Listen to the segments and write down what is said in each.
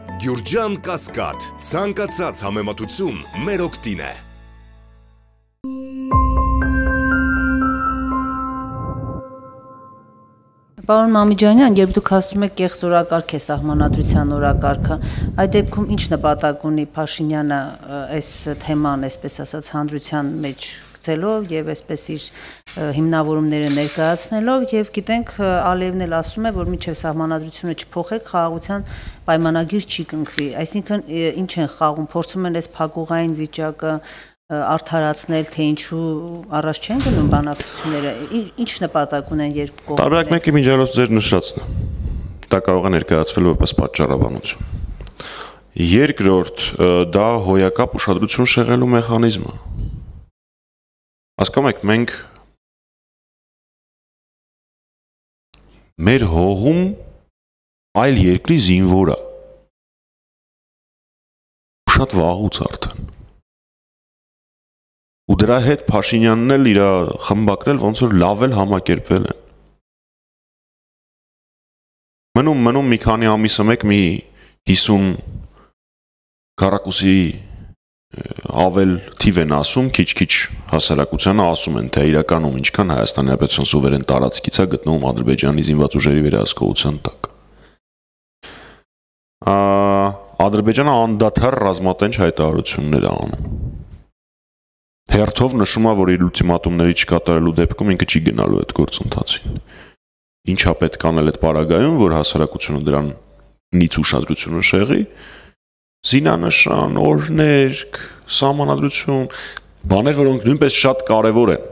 Գյուրջան Կասկադ, ցանկացած համեմատություն մեր օգտին է։ Պարոն Մամիջանյան, երբ դուք ասում եք կեղծ օրակարգ է սահմանադրության օրակարգը, այդ դեպքում ինչ նպատակ ունի Փաշինյանը այս թեման, այսպես ասած, հանրության մեջ գցելով եւ այսպես իր հիմնավորումները ներկայացնելով եւ գիտենք Ալիևն էլ ասում է, որ մինչեւ սահմանադրությունը չփոխեք, խաղաղության պայմանագիր չի կնքվի, այսինքն ինչ են խաղում, փորձում են այս փակուղային վիճակը արդարացնել, թե ինչու առաջ չեն գնում բանակցությունները, ինչ նպատակ ունեն երկու կողմերը։ Տարբերակ մեկի միջոցով ձեր նշածն է։ Դա կարող է ներկայացվել որպես պատճառաբանություն։ Երկրորդ, դա հոյակապ ուշադրություն շեղելու մեխանիզմ է։ Հասկանում եք, մենք մեր հողում այլ երկրի զինվոր է։ Շատ վաղուց արդեն։ Ու դրա հետ Փաշինյանն էլ իր խմբակրել ոնց որ լավ էլ համակերպվել են։ Մնում մի քանի ամիսը մեկ մի 50 քառակուսի ավել թիվ են ասում, քիչ-քիչ հասարակությանը ասում են, թե իրականում ինչքան Հայաստանի Հանրապետության սուվերեն տարածքից է գտնվում Ադրբեջանի զինված ուժերի վերահսկողության տակ։ Ադրբեջանը անդադար ռազմատենչ հայտարարություններ է անում։ Հերթով նշում է, որ իր ուլտիմատումների չկատարելու դեպքում ինքը չի գնալու այդ գործընթացին։ Ինչա պետք անել այդ պարագայում, որ հասարակությունը դրանից ուշադրությունը շեղի, զինանշան, օրհներգ, սահմանադրություն, բաներ, որոնք նույնպես շատ կարևոր են։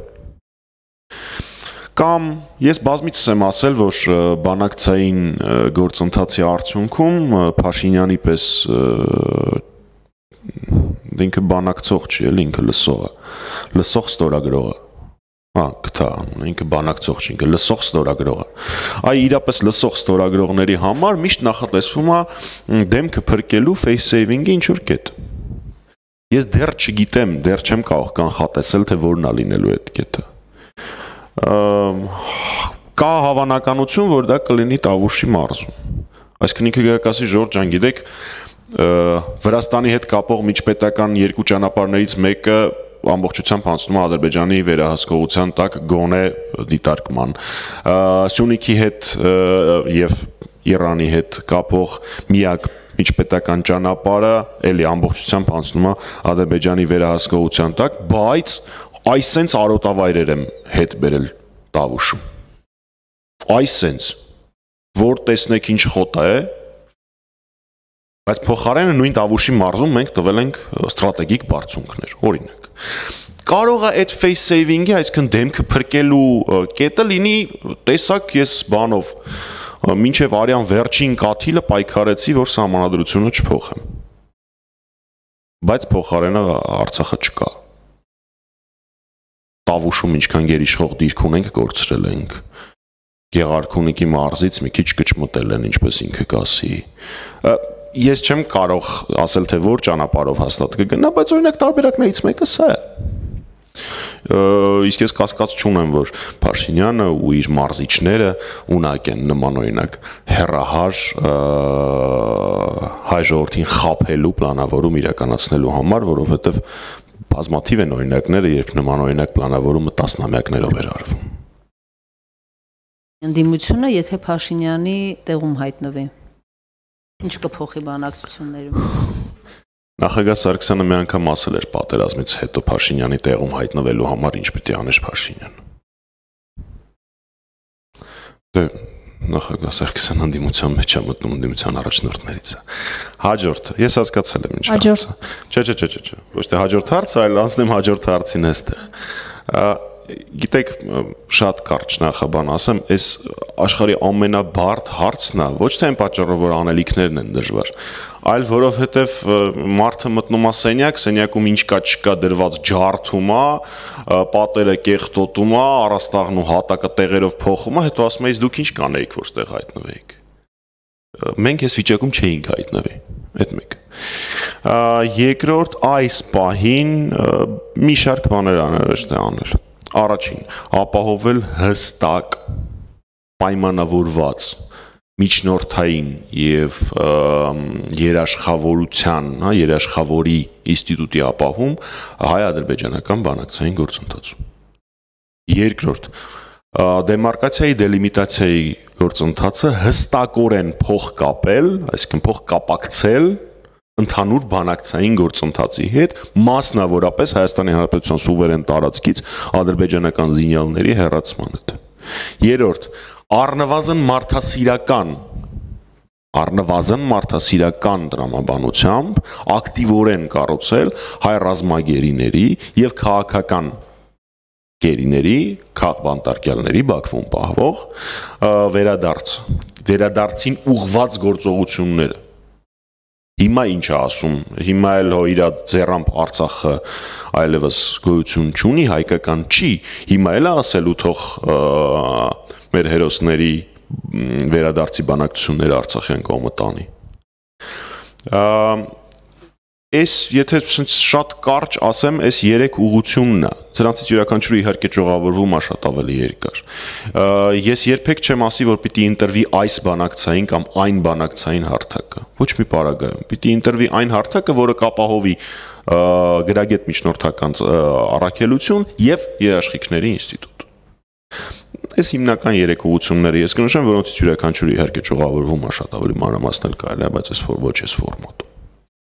Կամ ես բազմիցս եմ ասել, որ բանակցային գործընթացի արդյունքում Փաշինյանի պես ինքը բանակցող չի, էլ ինքը լսող է, լսող ստորագրող է, գտա, ինքը բանակցող չի, ինքը լսող ստորագրող է, այ իրապես լսող ստորագրողների համար միշտ նախատեսվում է դեմքը փրկելու face saving-ի ինչ-որ կետ, ես դեռ չգիտեմ, դեռ չեմ կարող կանխատեսել, թե որն է լինելու այդ կետը, կա հավանականություն, որ դա կլինի Տավուշի մարզում, այսինքն ինքը գերակասի Ժորժ ջան, գիտեք, Վրաստանի հետ կապող միջպետական երկու ճանապարհներից մեկը ամբողջությամբ անցնում է Ադրբեջանի վերահսկողության տակ գոնե դիտարկման։ Սյունիքի հետ եւ Իրանի հետ կապող միակ միջպետական ճանապարհը էլի ամբողջությամբ անցնում է Ադրբեջանի վերահսկողության տակ, բայց այսենց արոտավայրեր եմ հետ բերել Տավուշում։ Այսենց, որ տեսնեք ինչ խոտ է, բայց փոխարենը նույն Տավուշի մարզում մենք տվել ենք ստրատեգիկ բարձունքներ, օրինակ։ Կարող է այդ face saving-ի, այսինքն դեմքը փրկելու կետը լինի, տեսակ ես բանով, մինչև արյան վերջին կաթիլը պայքարեցի, որ սահմանադրությունը չփոխեմ։ Բայց փոխարենը Արցախը չկա։ Տավուշում ինչքան գերիշխող դիրք ունենք, կորցրել ենք։ Գեղարքունիքի մարզից մի քիչ կճմտել են, ինչպես ինքը կասի։ Ես չեմ կարող ասել, թե որ ճանապարհով հաստատ կգնա, բայց օրինակ տարբերակներից մեկը սա է։ Իսկ ես կասկած չունեմ, որ Փաշինյանը ու իր մարզիչները ունակ են նման օրինակ հեռահար հայ ժողովրդին խաբելու պլանավորում իրականացնելու համար, որովհետև բազմաթիվ են օրինակները, երբ նման օրինակ պլանավորումը տասնամյակներով էր արվում։ Ընդդիմությունը, եթե Փաշինյանի տեղում հայտնվի, ինչ կփոխի բանակցություններում։ Նախագահ Սարգսյանը մի անգամ ասել էր պատերազմից հետո Փաշինյանի տեղում հայտնվելու համար ինչ պիտի աներ Փաշինյանը։ Դե նախագահ Սարգսյանը ընդդիմության մեջ է մտնում, ընդդիմության առաջնորդներից է։ Հաջորդ, ես հասկացել եմ ինչ հարցը։ Չէ, ոչ թե հաջորդ հարցը, այլ անցնեմ հաջորդ հարցին այստեղ։ Գիտեք, շատ կարճ նախաբան ասեմ, այս աշխարհի ամենաբարդ հարցն է, ոչ թե այն պատճառով, որ անելիքներն են դժվար, այլ որովհետև մարդը մտնում է սենյակ, սենյակում ինչ կա չկա դրված ջարդում է, պատերը կեղտոտում է, առաստաղն ու հատակը տեղերով փոխում է, հետո ասում է, դուք ինչ կանեիք, որ ստեղ հայտնվեիք։ Մենք այս վիճակում չէինք հայտնվի, այդ մեկ։ Երկրորդ, այս պահին մի շարք բաներ անհրաժեշտ է անել։ Առաջին, ապահովել հստակ պայմանավորված միջնորդային եւ երաշխավորության, երաշխավորի ինստիտուտի ապահում հայ-ադրբեջանական բանակցային գործընթացում։ Երկրորդ, դեմարկացիայի դելիմիտացիայի գործընթացը հստակորեն փոխկապել, այսինքն փոխկապակցել ընդհանուր բանակցային գործընթացի հետ, մասնավորապես Հայաստանի Հանրապետության սուվերեն տարածքից ադրբեջանական զինյալների հեռացման հետ։ Երրորդ, առնվազն մարդասիրական տրամաբանությամբ ակտիվորեն կառուցել հայ ռազմագերիների եւ քաղաքական գերիների, քաղբանտարկյալների Բաքվում պահվող վերադարձին ուղղված գործողությունները։ Հիմա ինչ է ասում, հիմա էլ իր ձեռամբ Արցախը այլևս գոյություն չունի, հայկական չի, հիմա էլ ասելու թող մեր հերոսների վերադարձի բանակցությունները Արցախյան կողմը տանի։ Այս եթե շատ կարճ ասեմ, այս 3 ուղղությունն է։ Սրանցից յուրաքանչյուրը իհարկե ճյուղավորվում է շատ ավելի երկար։ Ես երբեք չեմ ասի, որ պիտի ընտրվի այս բանակցային կամ այն բանակցային հարթակը։ Ոչ մի պարագայում։ Պիտի ընտրվի այն հարթակը, որը կապահովի գրագետ միջնորդական առաքելություն եւ երաշխիքների ինստիտուտ։ Այս հիմնական 3 ուղղությունները ես կնշեմ, որոնցից յուրաքանչյուրը իհարկե ճյուղավորվում է շատ ավելի մանրամասնել կարելի է, բայց ոչ այս ֆորմատում։